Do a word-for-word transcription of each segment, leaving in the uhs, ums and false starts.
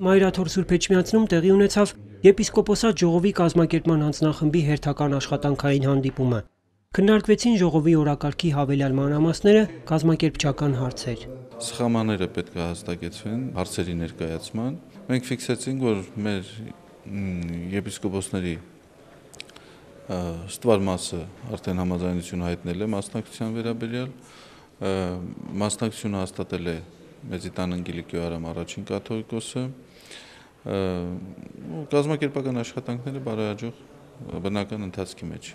Մայրաթոր Սուրբ Էջմիածնում տեղի ունեցավ եպիսկոպոսատ ժողովի կազմակերպման հանձնախմբի հերթական աշխատանքային հանդիպումը։ Քննարկվեցին ժողովի օրակարգի հավելյալ մանրամասները, կազմակերպչական հարցեր։ Սխամաները պետք է հաստատվեն հարցերի ներկայացման։ Մենք ֆիքսեցինք, որ մեր եպիսկոպոսների ստվար մասը արդեն համաձայնություն հայտնել է մասնակցության վերաբերյալ, մասնակցությունը հաստատել է Մեծիտան Անգելիկոյ Արամ առաջին կաթողիկոսը, կազմակերպական աշխատանքները բարեհաջող բնական ընթացքի մեջ։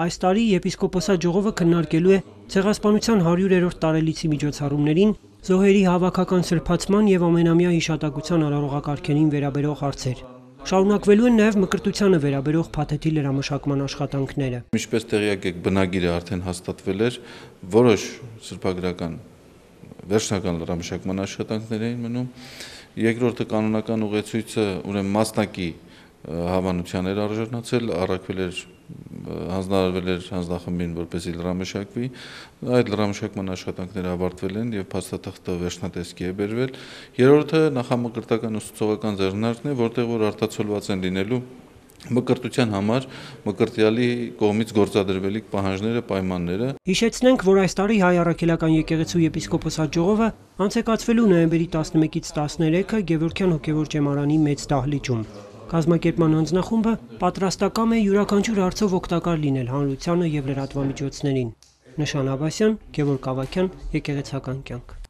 Այս տարի եպիսկոպոսատ ժողովը քննարկելու է ցեղասպանության հարյուրերորդ տարելիցի միջոցառումներին, զոհերի հավաքական սրբացման եւ ամենամյա հիշատակության արարողակարգերին վերաբերող հարցեր։ Շարունակվելու են նաև մկրտությանը վերաբերող փաթեթի լրամշակման աշխատանքները։ Ինչպես տեղյակ եք, բնագիրը արդեն հաստատվել էր, որոշ սրբագրական վերջնական լրամշակման աշխատանքներ էին մնում։ Երկրորդը կանոնական ուղեցույցը ուրեմն մասնակի հավանության էր արժանացել, առաքվել էր, հանձնարարվել էր հանձնախմբին, որպեսզի լրամշակվի։ Այդ լրամշակման աշխատանքները ավարտվել են եւ փաստաթղթը վերջնատեսկի է բերվել։ Երրորդը նախամկրտական ուսուցողական ձեռնարկն է, որտեղ որ արտացոլված են լինելու մկրտության համար մկրտյալի կողմից գործադրվելիք պահանջները, պայմանները։ Հիշեցնենք, որ այս տարի Հայ առաքելական եկեղեցու եպիսկոպոսատ ժողովը անցեկացվելու նոյեմբերի տասնմեկից տասներեքը Գևորգյան հոգևոր ճեմարանի մեծ դահլիճում։ Կազմակերպման հանձնախումբը պատրաստակամ է յուրաքանչյուր հարցով օգտակար լինել հանրությանը եւ լրատվամիջոցներին։ Նշան Աբասյան, Գևորգ Ավագյան, Եկեղեցական կյանք։